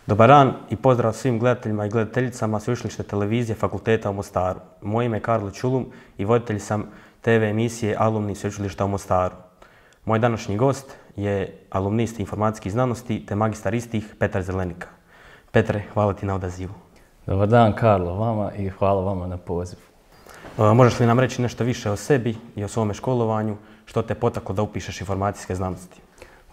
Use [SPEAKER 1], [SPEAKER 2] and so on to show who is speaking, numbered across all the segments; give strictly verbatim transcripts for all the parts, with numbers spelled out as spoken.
[SPEAKER 1] Dobar dan i pozdrav svim gledateljima i gledateljicama Sveučilišne televizije Fakulteta u Mostaru. Moje ime je Karlo Čulum i voditelj sam te ve emisije Alumni Sveučilišta u Mostaru. Moj današnji gost je alumnist informacijskih znanosti te magistar istih Petar Zelenika. Petre, hvala ti na odazivu.
[SPEAKER 2] Dobar dan Karlo, vama i hvala vama na pozivu.
[SPEAKER 1] Možeš li nam reći nešto više o sebi i o svome školovanju, što te potaklo da upišeš informacijske znanosti?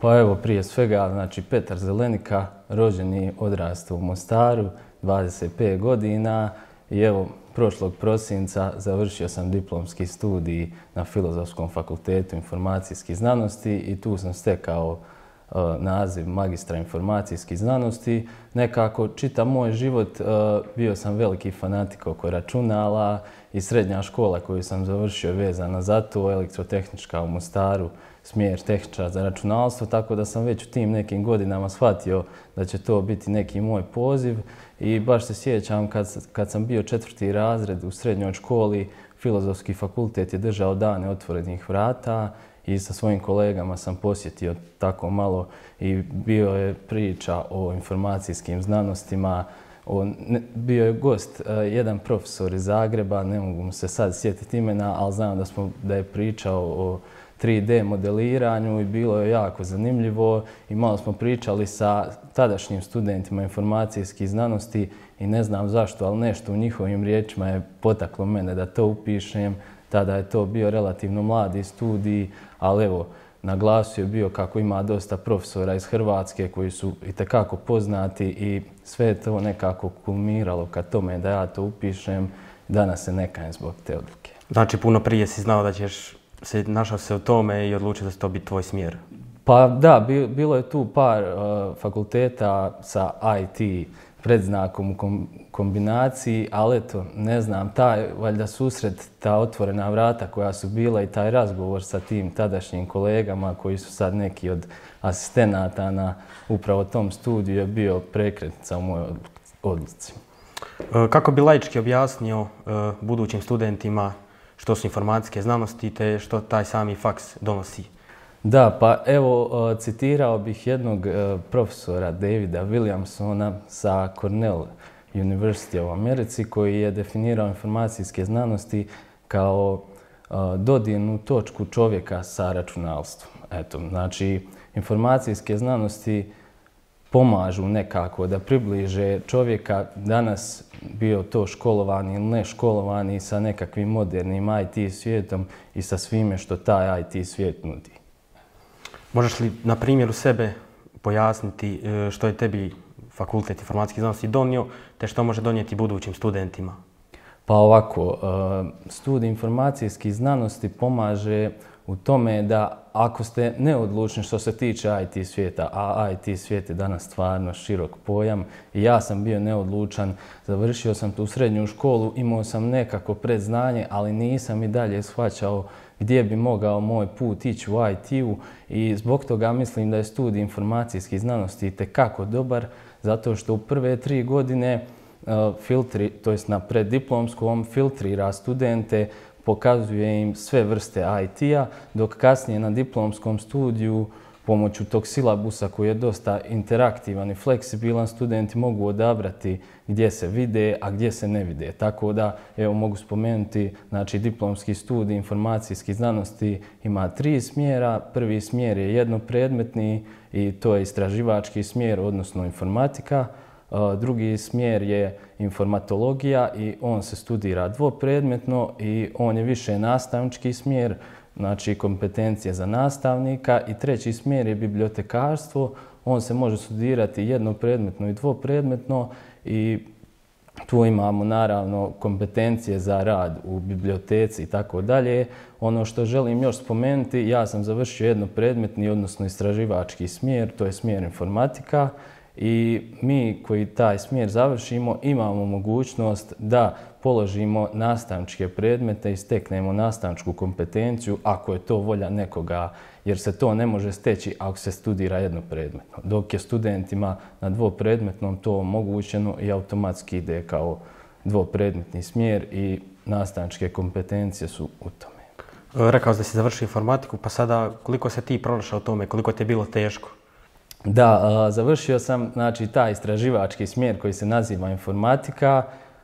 [SPEAKER 2] Pa evo, prije svega, znači Petar Zelenika, rođen i odrastao u Mostaru, dvadeset pet godina i evo, prošlog prosinca završio sam diplomski studij na Filozofskom fakultetu informacijskih znanosti i tu sam stekao uh, naziv magistra informacijskih znanosti. Nekako čitav moj život uh, bio sam veliki fanatik oko računala i srednja škola koju sam završio je vezana za to, elektrotehnička u Mostaru, smjer tehničar za računalstvo, tako da sam već u tim nekim godinama shvatio da će to biti neki moj poziv i baš se sjećam kad, kad sam bio četvrti razred u srednjoj školi, Filozofski fakultet je držao dane otvorenih vrata i sa svojim kolegama sam posjetio tako malo i bio je priča o informacijskim znanostima. O, ne, bio je gost uh, jedan profesor iz Zagreba, ne mogu mu se sad sjetiti imena, ali znam da, smo, da je pričao o tri de modeliranju i bilo je jako zanimljivo i malo smo pričali sa tadašnjim studentima informacijskih znanosti i ne znam zašto, ali nešto u njihovim riječima je potaklo mene da to upišem. Tada je to bio relativno mladi studij, ali evo, na glasu je bio kako ima dosta profesora iz Hrvatske koji su itekako poznati i sve je to nekako kulminiralo ka tome da ja to upišem. Danas se ne kajem zbog te odluke.
[SPEAKER 1] Znači, puno prije si znao da ćeš se našao se u tome i odlučio da će to biti tvoj smjer?
[SPEAKER 2] Pa da, bilo je tu par uh, fakulteta sa i te predznakom u kom, kombinaciji, ali eto, ne znam, taj valjda susret, ta otvorena vrata koja su bila i taj razgovor sa tim tadašnjim kolegama koji su sad neki od asistenata na upravo tom studiju je bio prekretnica u mojoj odluci.
[SPEAKER 1] Kako bi laički objasnio uh, budućim studentima što su informacijske znanosti te što taj sami faks donosi?
[SPEAKER 2] Da, pa evo citirao bih jednog profesora Davida Williamsona sa Cornell University u Americi koji je definirao informacijske znanosti kao dodirnu točku čovjeka sa računalstvom. Eto, znači, informacijske znanosti pomažu nekako da približe čovjeka, danas bio to školovani ili ne školovani, sa nekakvim modernim i te svijetom i sa svime što taj i te svijet nudi.
[SPEAKER 1] Možeš li na primjeru sebe pojasniti što je tebi Fakultet informacijskih znanosti donio te što može donijeti budućim studentima?
[SPEAKER 2] Pa ovako, studij informacijskih znanosti pomaže u tome da ako ste neodlučni što se tiče i te svijeta, a i te svijet je danas stvarno širok pojam i ja sam bio neodlučan, završio sam tu srednju školu, imao sam nekako predznanje, ali nisam i dalje shvaćao gdje bi mogao moj put ići u i te-u i zbog toga mislim da je studij informacijskih znanosti itekako dobar, zato što u prve tri godine uh, filtri, to jest na preddiplomskom filtrira studente, pokazuje im sve vrste i te-a, dok kasnije na diplomskom studiju pomoću tog silabusa koji je dosta interaktivan i fleksibilan, studenti mogu odabrati gdje se vide, a gdje se ne vide. Tako da, evo, mogu spomenuti, znači, diplomski studij informacijskih znanosti ima tri smjera. Prvi smjer je jednopredmetni i to je istraživački smjer, odnosno informatika. Drugi smjer je informatologija i on se studira dvopredmetno i on je više nastavnički smjer, znači kompetencije za nastavnika. I treći smjer je bibliotekarstvo, on se može studirati jednopredmetno i dvopredmetno i tu imamo naravno kompetencije za rad u biblioteci i tako dalje. Ono što želim još spomenuti, ja sam završio jednopredmetni, odnosno istraživački smjer, to je smjer informatika. I mi koji taj smjer završimo imamo mogućnost da položimo nastavničke predmete i steknemo nastavničku kompetenciju ako je to volja nekoga, jer se to ne može steći ako se studira jednopredmetno. Dok je studentima na dvopredmetnom to omogućeno i automatski ide kao dvopredmetni smjer i nastavničke kompetencije su u tome.
[SPEAKER 1] Rekao si da si završio informatiku, pa sada koliko se ti pronašao u tome, koliko ti je bilo teško?
[SPEAKER 2] Da, završio sam znači, taj istraživački smjer koji se naziva informatika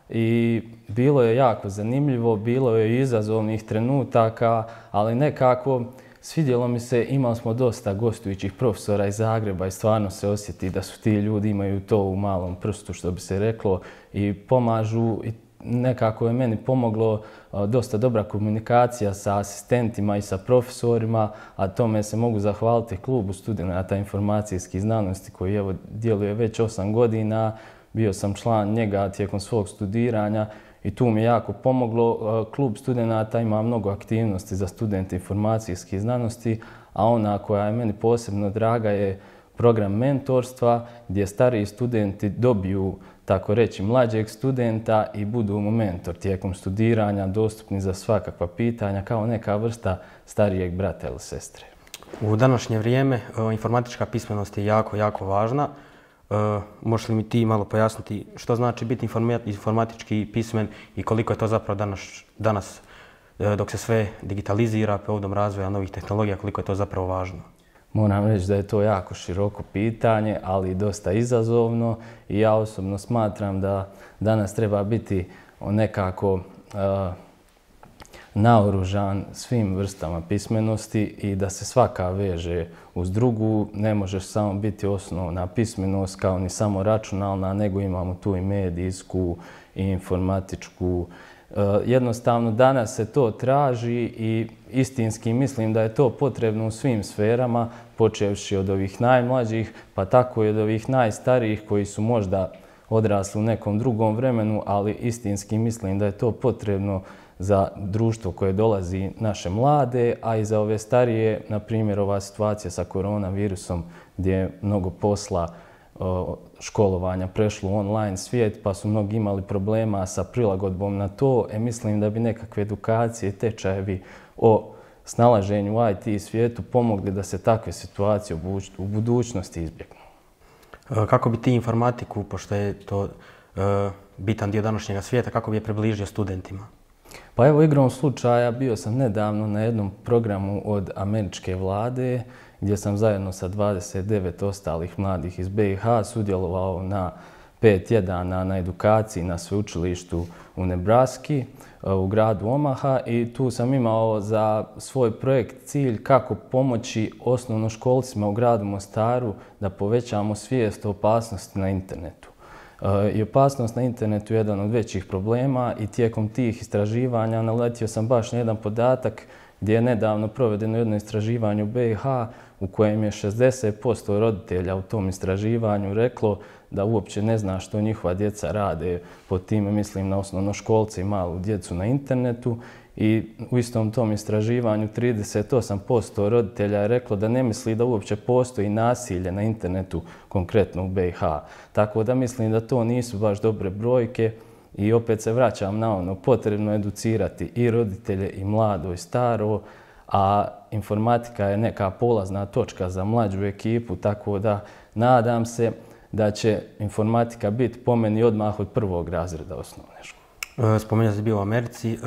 [SPEAKER 2] i bilo je jako zanimljivo, bilo je izazovnih trenutaka, ali nekako svidjelo mi se, imali smo dosta gostujućih profesora iz Zagreba i stvarno se osjeti da su ti ljudi imaju to u malom prstu, što bi se reklo, i pomažu. I nekako je meni pomoglo dosta dobra komunikacija sa asistentima i sa profesorima, a tome se mogu zahvaliti klubu studenata informacijskih znanosti koji evo djeluje već osam godina. Bio sam član njega tijekom svog studiranja i tu mi je jako pomoglo. Klub studenata ima mnogo aktivnosti za studente informacijskih znanosti, a ona koja je meni posebno draga je program mentorstva gdje stariji studenti dobiju, tako reći, mlađeg studenta i budu mu mentor tijekom studiranja, dostupni za svakakva pitanja kao neka vrsta starijeg brata ili sestre.
[SPEAKER 1] U današnje vrijeme informatička pismenost je jako, jako važna. Možeš li mi ti malo pojasniti što znači biti informatički pismen i koliko je to zapravo danas, danas dok se sve digitalizira, povodom razvoja novih tehnologija, koliko je to zapravo važno?
[SPEAKER 2] Moram reći da je to jako široko pitanje, ali dosta izazovno i ja osobno smatram da danas treba biti nekako uh, naoružan svim vrstama pismenosti i da se svaka veže uz drugu. Ne možeš samo biti osnovna pismenost kao ni samo računalna, nego imamo tu i medijsku i informatičku. Jednostavno danas se to traži i istinski mislim da je to potrebno u svim sferama, počevši od ovih najmlađih, pa tako i od ovih najstarijih koji su možda odrasli u nekom drugom vremenu, ali istinski mislim da je to potrebno za društvo koje dolazi naše mlade, a i za ove starije, na primjer ova situacija sa koronavirusom gdje je mnogo posla, školovanja prešlo u online svijet, pa su mnogi imali problema sa prilagodbom na to. E, mislim da bi nekakve edukacije, tečajevi o snalaženju u I T svijetu pomogli da se takve situacije u budućnosti izbjegnu.
[SPEAKER 1] Kako bi ti informatiku, pošto je to uh, bitan dio današnjega svijeta, kako bi je približio studentima?
[SPEAKER 2] Pa evo, igrom slučaja bio sam nedavno na jednom programu od američke vlade gdje sam zajedno sa dvadeset devet ostalih mladih iz B i H sudjelovao na pet tjedana na edukaciji na sveučilištu u Nebraski, u gradu Omaha, i tu sam imao za svoj projekt cilj kako pomoći osnovnoškolcima u gradu Mostaru da povećamo svijest o opasnosti na internetu. I opasnost na internetu je jedan od većih problema i tijekom tih istraživanja naletio sam baš na jedan podatak gdje je nedavno provedeno jedno istraživanje u B i H u kojem je šezdeset posto roditelja u tom istraživanju reklo da uopće ne zna što njihova djeca rade, pod time mislim na osnovnoškolce i malu djecu na internetu, i u istom tom istraživanju trideset osam posto roditelja je reklo da ne misli da uopće postoji nasilje na internetu, konkretno u B i H. Tako da mislim da to nisu baš dobre brojke i opet se vraćam na ono, potrebno educirati i roditelje i mlado i staro, a informatika je neka polazna točka za mlađu ekipu, tako da nadam se da će informatika biti po meni odmah od prvog razreda osnovne škole.
[SPEAKER 1] Spomenuo si bio u Americi,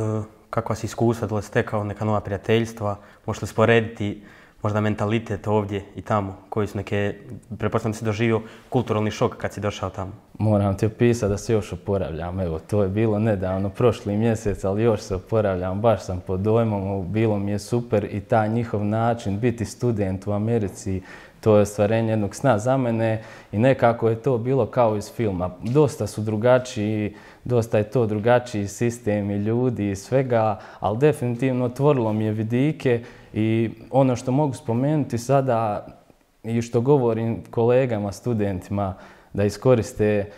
[SPEAKER 1] kakva si iskustva, da li stekao neka nova prijateljstva, možeš li sporediti možda mentalitet ovdje i tamo, koji su neke, pretpostavljam da si doživio kulturalni šok kad si došao tamo?
[SPEAKER 2] Moram ti opisati da se još oporavljam, evo, to je bilo nedavno, prošli mjesec, ali još se oporavljam, baš sam pod dojmom, bilo mi je super i taj njihov način biti student u Americi, to je ostvarenje jednog sna za mene i nekako je to bilo kao iz filma. Dosta su drugačiji, dosta je to drugačiji sistem i ljudi i svega, ali definitivno otvorilo mi je vidike i ono što mogu spomenuti sada i što govorim kolegama, studentima, da iskoriste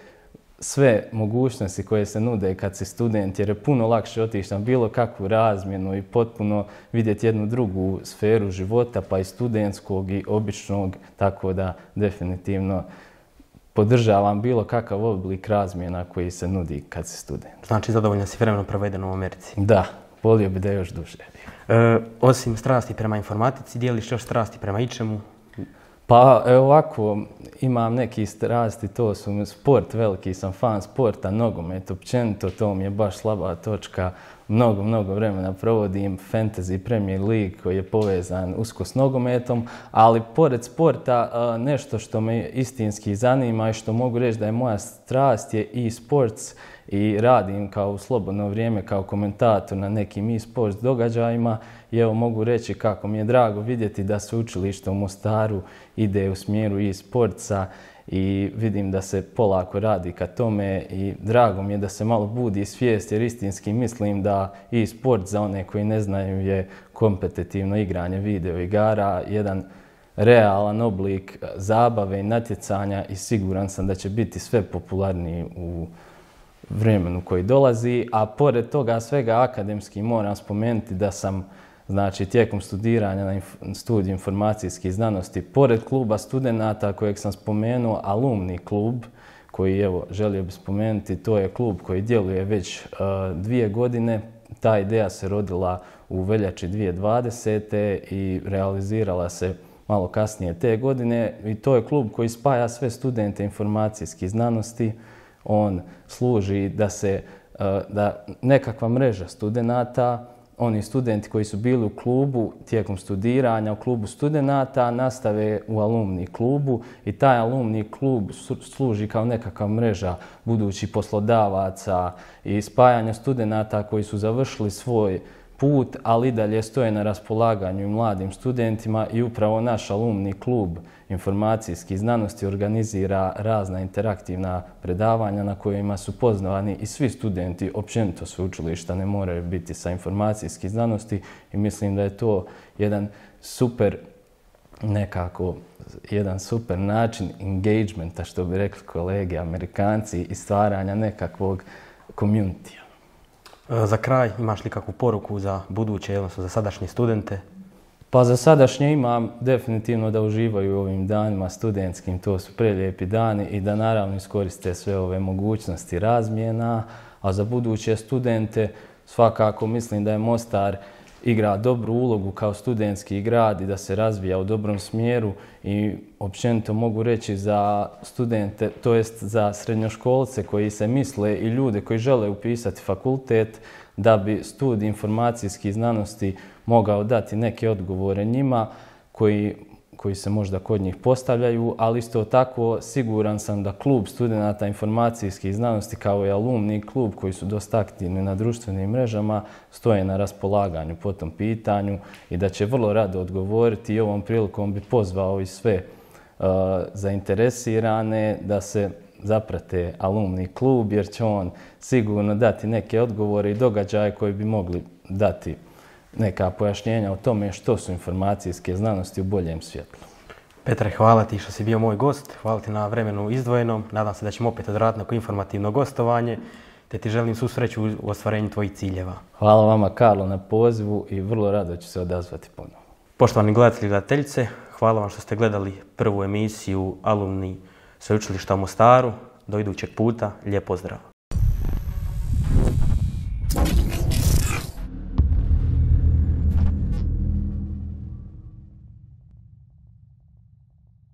[SPEAKER 2] sve mogućnosti koje se nude kad si student, jer je puno lakše otići na bilo kakvu razmjenu i potpuno vidjeti jednu drugu sferu života, pa i studentskog i običnog, tako da definitivno podržavam bilo kakav oblik razmjena koji se nudi kad si student.
[SPEAKER 1] Znači, zadovoljno si vremenom provedeno u Americi?
[SPEAKER 2] Da, volio bi da još duže.
[SPEAKER 1] E, osim strasti prema informatici, dijeliš još strasti prema ičemu?
[SPEAKER 2] Pa evo ovako, imam neki strasti, to su sport, veliki sam fan sporta, nogomet općenito, to mi je baš slaba točka. mnogo, mnogo vremena provodim Fantasy Premier League koji je povezan usko s nogometom, ali pored sporta nešto što me istinski zanima i što mogu reći da je moja strast je e-sports i radim kao u slobodno vrijeme kao komentator na nekim e-sports događajima i evo mogu reći kako mi je drago vidjeti da sveučilište u Mostaru ide u smjeru e-sportsa i vidim da se polako radi ka tome i drago mi je da se malo budi svijest jer istinski mislim da e-sport za one koji ne znaju je kompetitivno igranje video igara, jedan realan oblik zabave i natjecanja i siguran sam da će biti sve popularniji u vremenu koji dolazi, a pored toga svega akademski moram spomenuti da sam znači tijekom studiranja na studiju informacijskih znanosti, pored kluba studenata kojeg sam spomenuo, alumni klub, koji evo želio bih spomenuti, to je klub koji djeluje već uh, dvije godine. Ta ideja se rodila u veljači dvije tisuće dvadesete. i realizirala se malo kasnije te godine i to je klub koji spaja sve studente informacijskih znanosti. On služi da se uh, da nekakva mreža studenata, oni studenti koji su bili u klubu tijekom studiranja, u klubu studenata, nastave u alumni klubu i taj alumni klub služi kao nekakva mreža budućih poslodavaca i spajanja studenata koji su završili svoj put, ali i dalje stoje na raspolaganju i mladim studentima i upravo naš alumni klub informacijskih znanosti organizira razna interaktivna predavanja na kojima su pozvani i svi studenti općenito sveučilišta, ne moraju biti sa informacijskih znanosti i mislim da je to jedan super nekako jedan super način engagementa, što bi rekli kolege Amerikanci, i stvaranja nekakvog communitya.
[SPEAKER 1] Za kraj, imaš li kakvu poruku za buduće, odnosno za sadašnje studente?
[SPEAKER 2] Pa za sadašnje imam definitivno da uživaju u ovim danima studentskim, to su prelijepi dani i da naravno iskoriste sve ove mogućnosti razmjena, a za buduće studente svakako mislim da je Mostar igra dobru ulogu kao studentski grad i da se razvija u dobrom smjeru i općenito mogu reći za studente, to jest za srednjoškolce koji se misle i ljude koji žele upisati fakultet, da bi studij informacijskih znanosti mogao dati neke odgovore njima koji, koji se možda kod njih postavljaju, ali isto tako siguran sam da klub studenata informacijskih znanosti kao i alumni klub koji su dosta aktivni na društvenim mrežama stoje na raspolaganju po tom pitanju i da će vrlo rado odgovoriti i ovom prilikom bi pozvao i sve uh, zainteresirane da se zaprate alumni klub jer će on sigurno dati neke odgovore i događaje koji bi mogli dati neka pojašnjenja o tome što su informacijske znanosti u boljem svjetlu.
[SPEAKER 1] Petre, hvala ti što si bio moj gost, hvala ti na vremenu izdvojenom, nadam se da ćemo opet odraditi neko informativno gostovanje, te ti želim svu sreću u ostvarenju tvojih ciljeva.
[SPEAKER 2] Hvala vama, Karlo, na pozivu i vrlo rado ću se odazvati ponovo.
[SPEAKER 1] Poštovani gledatelji i gledateljice, hvala vam što ste gledali prvu emisiju Alumni Sveučilišta u Mostaru. Do idućeg puta, lijep pozdrav!